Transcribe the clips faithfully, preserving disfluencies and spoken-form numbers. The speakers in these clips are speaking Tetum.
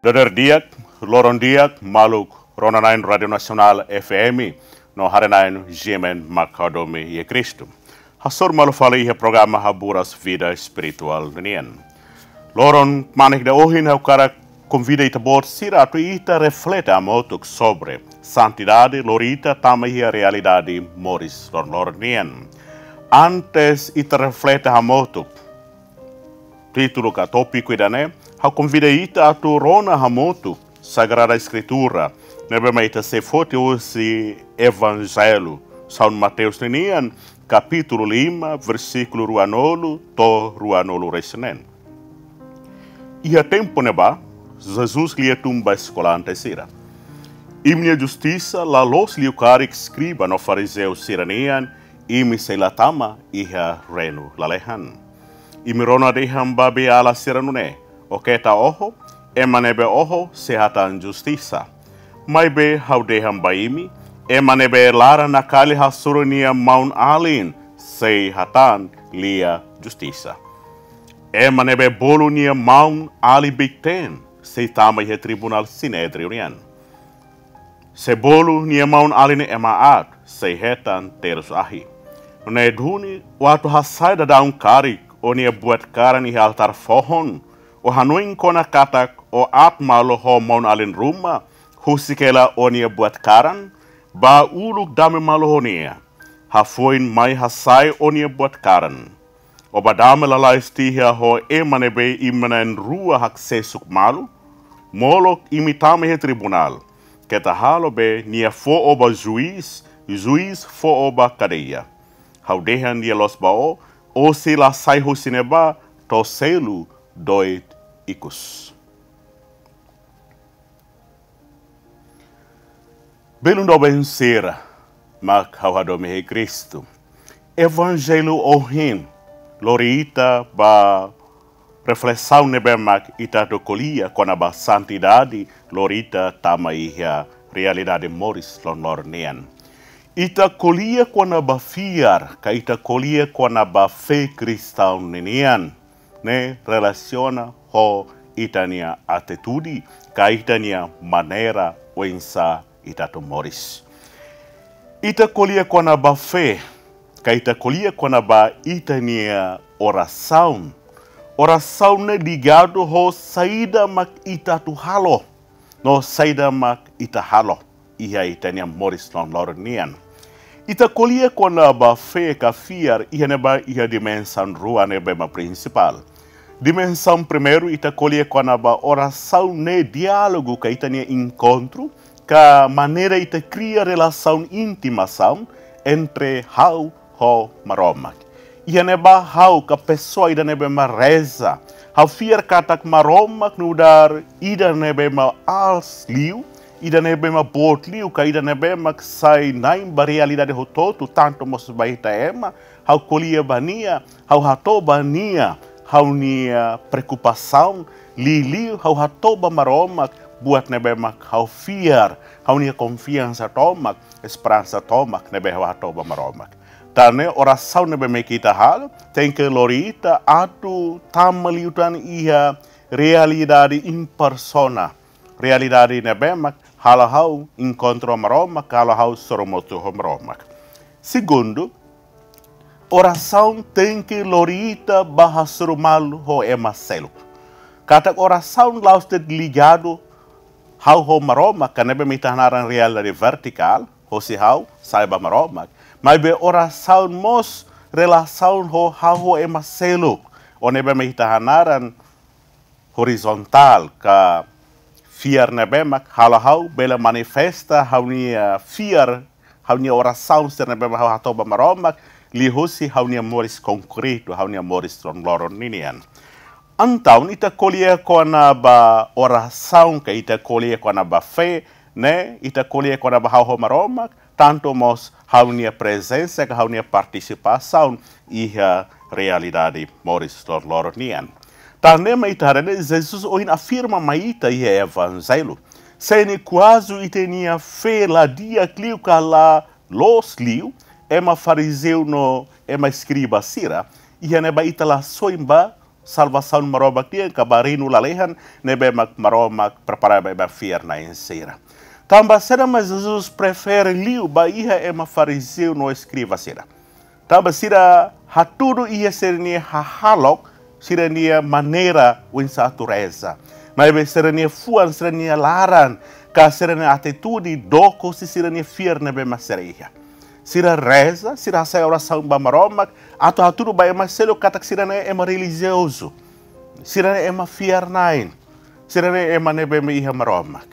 Dadeer di'ak, loron di'ak, maluk rona-na'in Rádiu Nasionál F M no haree-na'in G M N mak hadomi iha Kristu. Hasoru malu fali iha programa Haburas Vida Espirituál ninian. Loron kmanek ida ohin ha'u hakarak konvida ita-boot sira atu ita reflete hamutuk sobre santidade lori ita tama iha realidade moris loron-loron nian. Antes ita reflete hamutuk títulu ka tópiku ida-ne'e, ha'u konvida ita atu rona hamutuk Sagrada Eskritura, ne'ebé mak ita sei foti husi Evanjellu São Mateus ninian, kapítulu lima, versíkulu ruanulu to'o ruanulu-resin-neen. Iha tempu ne'ebá, Jesus lia tun ba eskolante sira: Imi-nia justisa la loos liu karik eskriba no farizeu sira-nian, imi sei la tama iha reinu lalehan. Imi rona dehan ba beiala sira nune'e: Ó keta oho, ema ne'ebé oho sei hatán justisa. Maibé ha'u dehan ba imi, ema ne'ebé laran nakali hasoru nia maun-alin sei hatán lia justisa. Ema ne'ebé bolu nia maun-alin beiteen sei tama iha tribunál Sinédriu nian. Se bolu nia maun-alin ema aat, sei hetan terus ahi. Nune'e duni, ó atu hasai daudaun karik ó-nia buat karan iha altár foho, ó hanoin kona katak ó aat malu ho maun-alin ruma, husik hela ó-nia buat karan, bá uluk dame malu ho nia. Hafoin mai hasai ó-nia buat karan. Ó bá dame lalais tiha ho ema ne'ebé imi na'in-rua haksesuk malu, molok imi tama iha tribunál. Keta halo be nia fó ó ba juís, juís fó ó ba kadeia. Ha'u dehan lia-loos ba ó, ó sei la sai husi ne'ebá to'o selu doit ikus. Belun doben sira mak ha'u hadomi iha Kristu, Evanjellu ohin lori ita ba reflesaun ne'ebé mak ita atu ko'alia kona-ba santidade lori ita tama iha realidade moris loron-loron nian. Ita ko'alia kona-ba fiar, ka ita ko'alia kona-ba fé kristaun ninian, ne'e relasiona ho ita-nia atitude, ka ita-nia maneira oinsá ita atu moris. Ita ko'alia kona-ba fé, ka ita ko'alia kona-ba ita-nia orasaun. Orasaun ne'e ligadu ho saida mak ita atu halo, no saida mak ita halo iha ita-nia moris loron-loron nian. Ita ko'alia kona-ba fé ka fiar iha ne'ebá iha dimensaun rua ne'ebé mak prinsipál. Dimensaun primeiru, ita ko'alia kona-ba orasaun ne'e diálogu ka ita-nia enkontru, ka maneira ita kria relasaun intimasaun entre ha'u ho Maromak. Iha ne'ebá ha'u ka pesoa ida ne'ebé mak reza, ha'u fiar katak Maromak nu'udar ida ne'ebé mak aas liu, ida ne'ebé mak boot liu, ka ida ne'ebé mak sai na'in ba realidade hotu-hotu, tantu mós ba ita ema, ha'u ko'alia ba nia, ha'u hato'o ba nia ha'u-nia preokupasaun, liuliu ha'u hato'o ba Maromak buat ne'ebé mak ha'u fiar, ha'u-nia konfiansa tomak, esperansa tomak ne'ebé ha'u hato'o ba Maromak. Tan ne'e orasaun ne'ebé mak ita halo, tenke lori ita atu tama liután iha realidade en persona. Realidade ne'ebé mak halo ha'u enkontru ho Maromak, halo ha'u sorumutu ho Maromak. Segundu, orasaun tenke lori ita ba hasoru malu ho ema seluk. Katak orasaun la'ós de'it ligadu ha'u ho Maromak, ka ne'ebé mak ita hanaran realidade vertikál, hosi ha'u sai ba Maromak. Maibé orasaun mós relasaun ho ha'u ho ema seluk. Ou ne'ebé mak ita hanaran horizontál, ka fiar ne'ebé mak halo ha'u bele manifesta ha'u-nia fiar, ha'u-nia orasaun sira ne'ebé mak ha'u hato'o ba Maromak, liuhusi ha'u-nia moris konkretu, ha'u-nia moris loron-loron ninian. Entaun ita ko'alia kona-ba orasaun ka ita ko'alia kona-ba fé, ne'e ita ko'alia kona-ba ha'u ho Maromak, tantu mós ha'u-nia prezensa ka ha'u-nia partisipasaun iha realidade moris loron-loron nian. Tan ne'e mak ita haree Jesus ohin afirma mai ita iha Evanjellu. Se ne'e kuazu ita-nia fé la di'ak liu ka la loos liu, ema farizeu no ema eskriba sira, iha ne'ebá ita la soin ba salvasaun Maromak nian ka ba reinu lalehan ne'ebé mak Maromak prepara ba ema fiar-na'in sira. Tanba saida mak Jesus prefere liu ba iha ema farizeu no eskriva sira? Tanba sira hatudu iha sira-nia hahalok, sira-nia maneira oinsá atu reza. Maibé sira-nia fuan, sira-nia laran, ka sira-nia atitude, dook husi sira-nia fiar ne'ebé mak sira iha. Sira reza, sira hasai orasaun ba Maromak, atu hatudu ba ema seluk katak sira ne'e ema relijiozu. Sira ne'e ema fiar-na'in. Sira ne'e ema ne'ebé mak iha Maromak.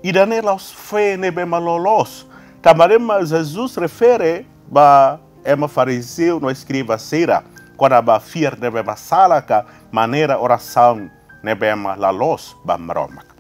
Ida-ne'e la'ós fé ne'ebé mak loloos. Tanba ne'e mak Jesus refere ba ema farizeu no eskriva sira kona-ba fiar ne'ebé mak sala ka maneira orasaun ne'ebé mak la loos ba Maromak.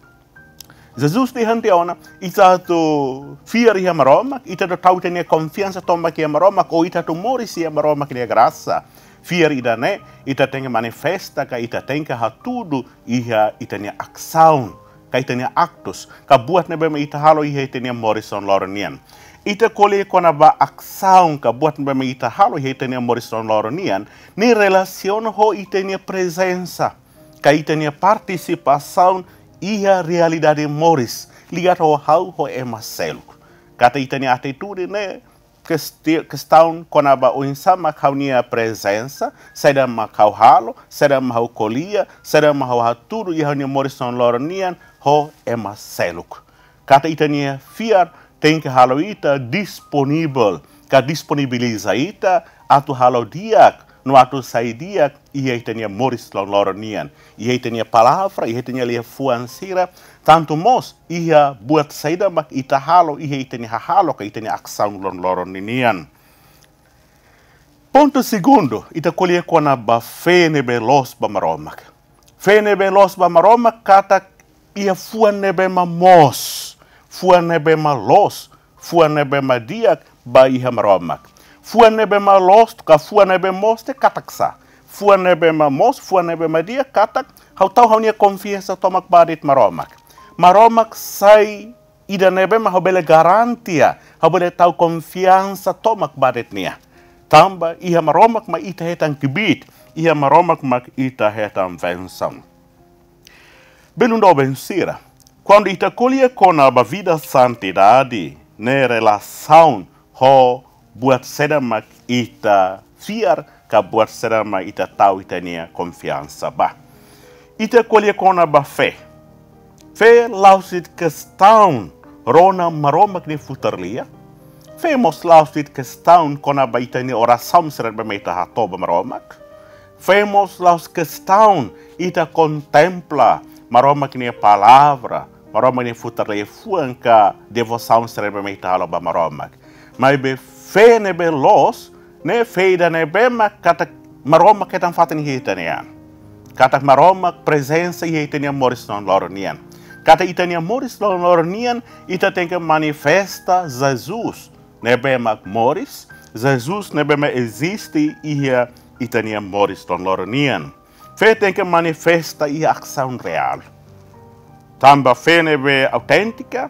Jesus dehan tiha ona, ita atu fiar iha Maromak, ita atu tau ita-nia konfiansa tomak iha Maromak, ou ita atu moris iha Maromak nia grasa. Fiar ida-ne'e, ita tenke manifesta ka ita tenke hatudu iha ita-nia asaun, ka ita-nia aktus, ka buat ne'ebé mak ita halo iha ita-nia moris loron-loron nian. Ita ko'alia kona-ba asaun, ka buat ne'ebé mak ita halo iha ita-nia moris loron-loron nian, ne'e relasiona ho ita-nia prezensa, ka ita-nia partisipasaun iha realidade moris, ligadu ho ha'u ho ema seluk. Katak ita-nia atitude ne'e kesti-, kestaun kona-ba oinsá mak ha'u-nia prezensa, saida mak ha'u halo, saida mak ha'u ko'alia, saida mak ha'u hatudu iha ha'u-nia moris loron-loron nian ho ema seluk. Katak ita-nia fiar tenke halo ita disponivel, ka disponibiliza ita atu halo di'ak, no atu sai di'ak iha ita-nia moris loron-loron nian, iha ita-nia palavra, iha ita-nia liafuan sira, tantu mós iha buat saida mak ita halo iha ita-nia hahalok ka ita-nia asaun loron-loron ninian. Pontu segundu, ita ko'alia kona-ba fé ne'ebé loos ba Maromak. Fé ne'ebé loos ba Maromak katak iha fuan ne'ebé mak moos, fuan ne'ebé mak loos, fuan ne'ebé mak di'ak ba iha Maromak. Fuan ne'ebé mak loos ka fuan ne'ebé moos ne'e katak sá? Fuan ne'ebé mak moos, fuan ne'ebé mak di'ak katak ha'u tau ha'u-nia konfiansa tomak ba de'it Maromak. Maromak sai ida ne'ebé mak ha'u bele garantia, ha'u bele tau konfiansa tomak ba de'it nia. Tanba iha Maromak mak ita hetan kbiit, iha Maromak mak ita hetan bensaun. Belun doben sira, kuandu ita ko'alia kona-ba vida santidade, ne'e relasaun ho buat saida mak ita fiar, ka buat saida mak ita tau ita-nia konfiansa ba. Ita ko'alia kona-ba fé. Fé la'ós de'it kestaun rona Maromak nia futar lia. Fé mós la'ós de'it kestaun kona-ba ita-nia orasaun sira ne'ebé mak ita hato'o ba Maromak. Fé mós la'ós kestaun ita kontempla Maromak nia palavra, Maromak nia futar liafuan ka devosaun sira ne'ebé mak ita halo ba Maromak. Maibé fé ne'ebé loos, ne'e fé ida ne'ebé mak katak Maromak hetan fatin iha ita-nia an. Katak Maromak prezensa iha ita-nia moris loron-loron nian. Katak ita-nia moris loron-loron nian, ita tenke manifesta Jesus ne'ebé mak moris, Jesus ne'ebé mak eziste iha ita-nia moris loron-loron nian. Fé tenke manifesta iha asaun reál. Tanba fé ne'ebé auténtika,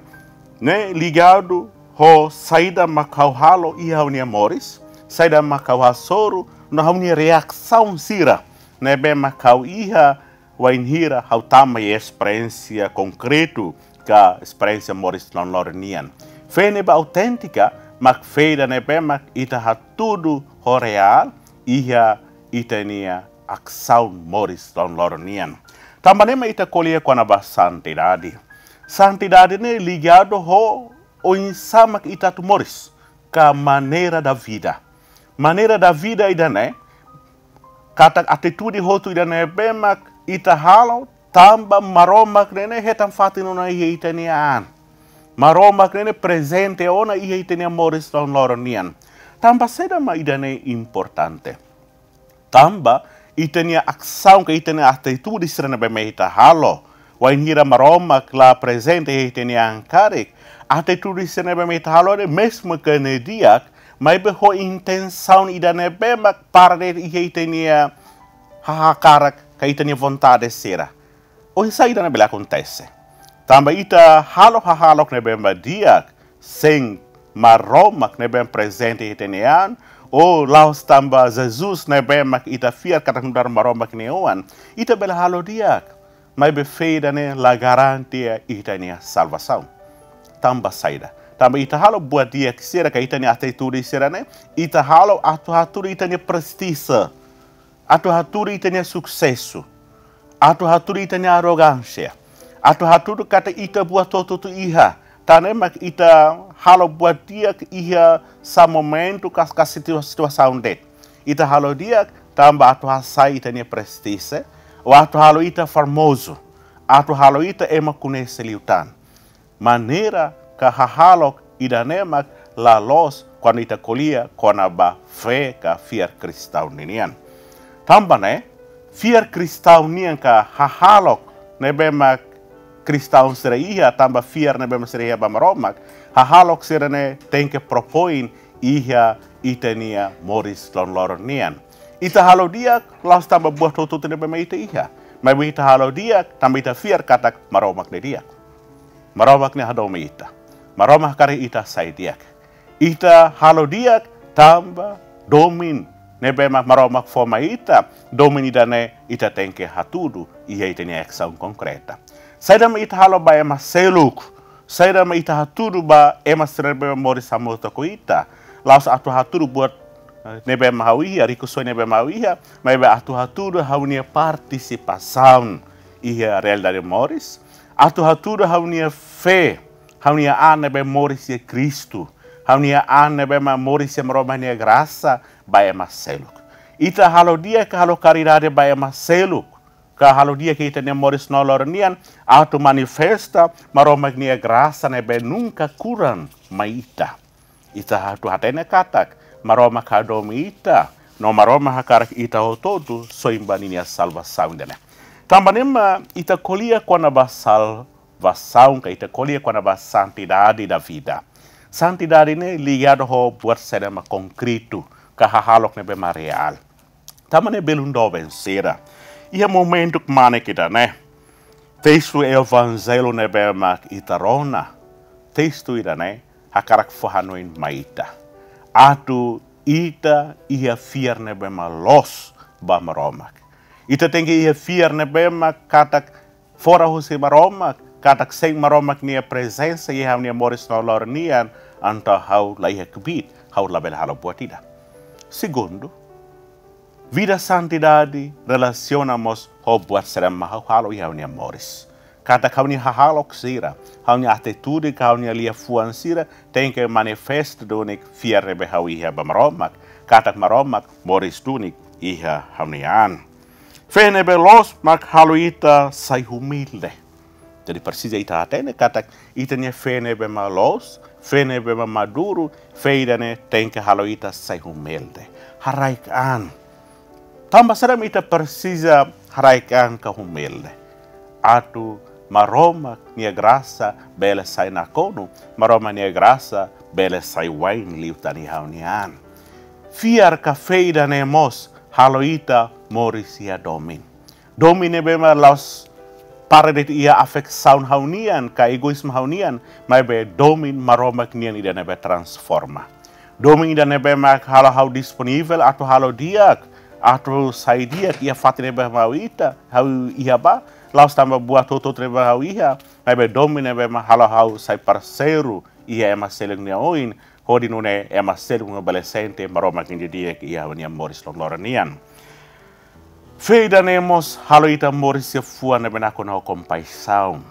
ne'e ligadu ho saida mak ha'u halo iha ha'u-nia moris, saida mak ha'u hasoru, no ha'u-nia reasaun sira ne'ebé mak ha'u iha wainhira ha'u tama iha esperiénsia konkretu ka esperiénsia moris loron-loron nian. Fé ne'ebé auténtika mak fé ida ne'ebé mak ita hatudu ho reál iha ita-nia asaun moris loron-loron nian. Tanba ne'e mak ita ko'alia kona-ba santidade. Santidade ne'e ligadu ho oinsá mak ita atu moris, ka maneira da vida. Maneira da vida ida-ne'e, katak atitude hotu ida ne'ebé mak ita halo, tanba Maromak ne'e hetan fatin ona iha ita-nia an. Maromak ne'e prezente ona iha ita-nia moris loron-loron nian. Tanba saida mak ida-ne'e importante? Tanba ita-nia asaun ka ita-nia atitude sira ne'ebé mak ita halo, wainhira Maromak la prezente iha ita-nia an karik, atitude sira ne'ebé mak ita halo ne'e mezmu ke ne'e di'ak, maibé ho intensaun ida ne'ebé mak para de'it iha ita-nia hahakarak ka ita-nia vontade sira. Oinsá ida-ne'e bele akontese? Tanba ita halo hahalok ne'ebé mak di'ak sein Maromak ne'ebé prezente iha ita-nia an, ou la'ós tanba Jesus ne'ebé mak ita fiar katak nu'udar Maromak nia oan, ita bele halo di'ak. Maibé fé ida-ne'e la garante ita-nia salvasaun. Tanba saida? Tanba ita halo buat di'ak sira ka ita-nia atitude sira-ne'e, ita halo atu hatudu ita-nia prestije, atu hatudu ita-nia susesu, atu hatudu ita-nia arrogánsia, atu hatudu katak ita buat hotu-hotu iha, tan ne'e mak ita halo buat di'ak iha sá momentu ka, ka situa-, situasaun de'it. Ita halo di'ak tanba atu hasa'e ita-nia prestije, ou atu halo ita famozu, atu halo ita ema koñese liután. Maneira ka hahalok ida-ne'e mak la loos kuandu ita ko'alia kona-ba fé ka fiar kristaun ninian. Tanba ne'e, fiar kristaun nian ka hahalok ne'ebé mak kristaun sira iha, tanba fiar ne'ebé mak sira iha ba Maromak, hahalok sira-ne'e tenke propoin iha ita-nia moris loroloron nian. Ita halo di'ak la'ós tanba buat hotu-hotu ne'ebé mak ita iha, maibé ita halo di'ak tanba ita fiar katak Maromak ne'e di'ak. Maromak ne'e hadomi ita. Maromak hakarak ita sai di'ak. Ita halo di'ak tanba domin ne'ebé mak Maromak fó mai ita, domin ida-ne'e ita tenke hatudu iha ita-nia asaun konkreta. Saida mak ita halo ba ema seluk, saida mak ita hatudu ba ema sira ne'ebé moris hamutuk ho ita, la'ós atu hatudu buat, eh, ne'ebé mak ha'u iha, rikusoin ne'ebé mak ha'u iha, maibé atu hatudu ha'u-nia partisipasaun iha realidade moris, atu hatudu ha'u-nia fé, ha'u-nia an ne'ebé moris iha Kristu, ha'u-nia an ne'ebé mak moris iha Maromak nia grasa ba ema seluk. Ita halo di'ak ka halo karidade ba ema seluk, ka halo di'ak iha ita-nia moris loroloron nian, atu manifesta Maromak nia grasa ne'ebé nunka kuran mai ita. Ita atu hatene katak Maromak hadomi ita, no Maromak hakarak ita hotu-hotu soin ba ninia salvasaun ida-ne'e. Tanba ne'e mak ita ko'alia kona-ba salvasaun ka ita ko'alia kona-ba santidade da vida. Santidade ne'e ligadu ho buat saida mak konkretu ka hahalok ne'ebé mak reál. Tanba ne'e belun doben sira, iha momentu kmanek ida-ne'e, testu Evanjellu ne'ebé mak ita rona, testu ida-ne'e hakarak fó hanoin mai ita atu ita iha fiar ne'ebé mak loos ba Maromak. Ita tenke iha fiar ne'ebé mak katak fora husi Maromak, katak sein Maromak nia prezensa iha ha'u-nia moris loroloron nian, entaun ha'u la iha kbiit, ha'u labele halo buat ida. Segundu, vida santidade relasiona mós ho buat saida mak ha'u halo iha ha'u-nia moris. Katak ha'u-nia hahalok sira, ha'u-nia atitude ka ha'u-nia liafuan sira tenke manifesta duni fiar ne'ebé ha'u iha ba Maromak, katak Maromak moris duni iha ha'u-nia an. Fé ne'ebé loos mak halo ita sai humilde. Jadi presiza ita hatene katak ita-nia fé ne'ebé mak loos, fé ne'ebé mak maduru, fé ida-ne'e tenke halo ita sai humilde. Haraik an. Tanba saida mak ita presiza haraik an ka humilde? Atu Maromak nia grasa bele sai nakonu, Maromak nia grasa bele sai wa'in liután iha ha'u-nia an. Fiar ka fé ida-ne'e mós halo ita moris iha domin. Domin ne'ebé mak la'ós para de'it iha afeksaun ha'u-nian ka egoízmu ha'u-nian, maibé domin Maromak nian ida ne'ebé transforma. Domin ida ne'ebé mak halo ha'u disponivel atu halo di'ak, atu sai di'ak iha fatin ne'ebé mak ha'u ita, ha'u iha ba, la'ós tanba buat hotu-hotu ne'ebé ha'u iha, maibé domin ne'ebé mak halo ha'u sai parseiru iha ema seluk nia oin, hodi nune'e ema seluk ne'e bele sente Maromak nia di'ak iha ha'u-nia moris loroloron nian. Fé ida-ne'e mós halo ita moris iha fuan ne'ebé nakonu ho kompaixaun.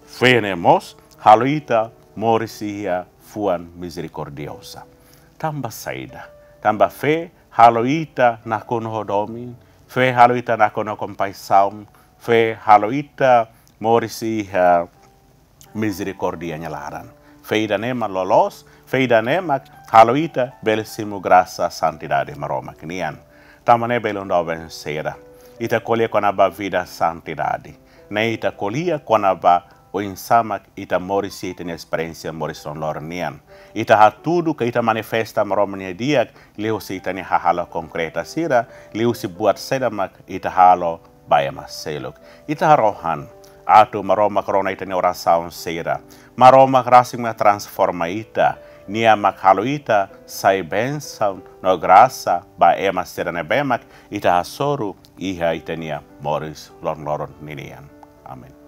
Fé ne'e mós halo ita moris iha fuan mizerikordioza. Tanba saida? Tanba fé halo ita nakonu ho domin, fé halo ita nakonu ho kompaixaun, fé halo ita moris iha mizerikórdia nia laran. Fé ida-ne'e mak loloos, fé ida-ne'e mak halo ita bele simu grasa santidade Maromak nian. Tanba ne'e belun doben sira, ita ko'alia kona-ba vida santidade, ne'e ita ko'alia kona-ba oinsá mak ita moris iha ita-nia esperiénsia moris loroloron nian. Ita hatudu ka ita manifesta Maromak nia di'ak liuhusi ita-nia hahalok konkreta sira, liuhusi buat saida mak ita halo ba ema seluk. Ita harohan atu Maromak rona ita-nia orasaun sira. Maromak rasik mak transforma ita. Nia mak halo ita sai bensaun no grasa ba ema sira ne'ebé mak ita hasoru iha ita-nia moris loron-loron ninian. Amen.